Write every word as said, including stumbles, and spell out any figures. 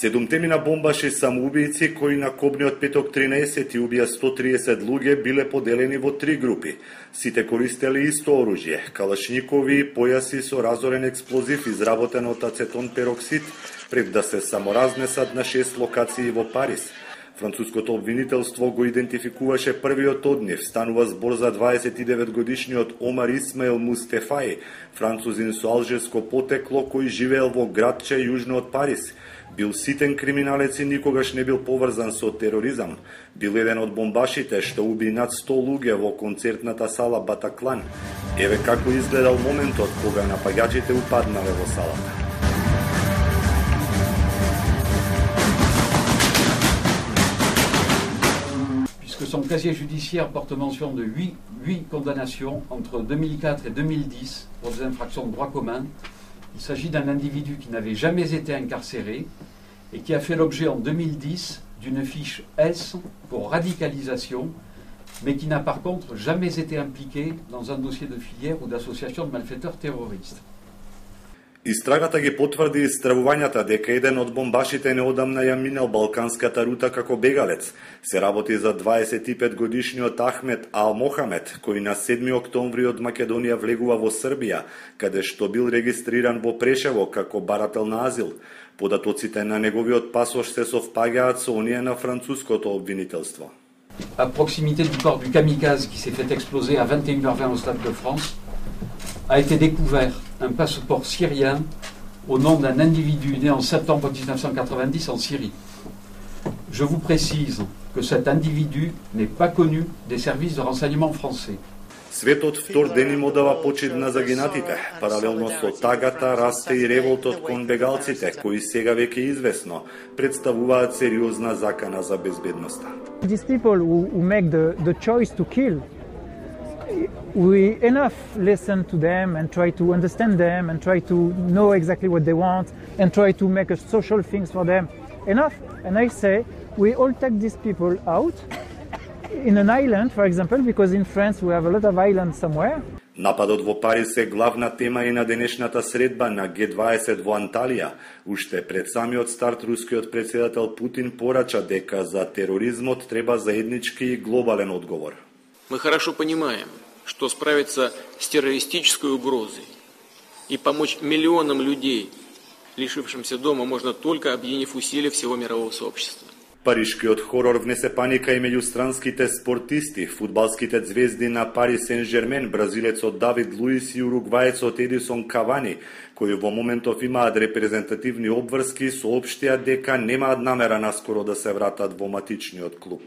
Седумтемина бомбаши самоубијци кои на кобниот петок тринаесети убија сто триесет луѓе биле поделени во три групи. Сите користеле исто оружје, калашникови појаси со разорен експлозив изработен од ацетон пероксид, пред да се саморазнесат на шест локации во Париз. Француското обвинителство го идентификуваше првиот од нив. Станува збор за дваесет и девет годишниот Омар Исмаил Мустефаи, французин со алжирско потекло кој живеел во градче јужно од Париз. Бил ситен криминалец и никогаш не бил поврзан со тероризам. Бил еден од бомбашите што уби над сто луѓе во концертната сала Батаклан. Еве како изгледал моментот кога напаѓачите упаднале во салата. Son casier judiciaire porte mention de huit condamnations entre deux mille quatre et deux mille dix pour des infractions de droit commun. Il s'agit d'un individu qui n'avait jamais été incarcéré et qui a fait l'objet en deux mille dix d'une fiche S pour radicalisation, mais qui n'a par contre jamais été impliqué dans un dossier de filière ou d'association de malfaiteurs terroristes. Истрагата ги потврди истравувањата дека еден од бомбашите неодамна ја минал балканската рута како бегалец. Се работи за дваесет и пет годишниот Ахмет Ал Мохамед, кој на седми октомври од Македонија влегува во Србија, каде што бил регистриран во Прешево како барател на азил. Податоците на неговиот пасош се совпагаат со оние на француското обвинителство. À proximité du corps du kamikaze qui s'est fait exploser à vingt et une heures vingt au Stade de France, a été découvert un passeport syrien au nom d'un individu né en septembre mille neuf cent quatre-vingt-dix en Syrie. Je vous précise que cet individu n'est pas connu des services de renseignement français. Светот втор ден им одава почит на загинатите. Паралелно со тагата расте и револтот кон бегалците, кои сега веќе известно представуваат сериозна закана за безбедноста. These people who, who make the, the choice to kill, we enough listen to them and try to understand them and try to know exactly what they want and try to make a social things for them. Enough. And I say we all take these people out in an island, for example, because in France we have a lot of islands somewhere. Нападот во Париз е главна тема и на денешната средба на Г дваесет во Анталија. Уште пред самиот старт рускиот председател Путин порача дека за тероризмот треба заеднички и глобален одговор. Мы хорошо понимаем, что справиться с террористической угрозой и помочь миллионам людей, лишившимся дома, можно только объединив усилия всего мирового сообщества. Паришкиот хорор внесе паника и меѓу странските спортисти, фудбалските звезди на Пари Сен-Жермен, бразилецот Давид Луис и уругваецот Едисон Кавани, кои во моментов имаат репрезентативни обврски, соопштија дека немаат намера наскоро да се вратат во матичниот клуб.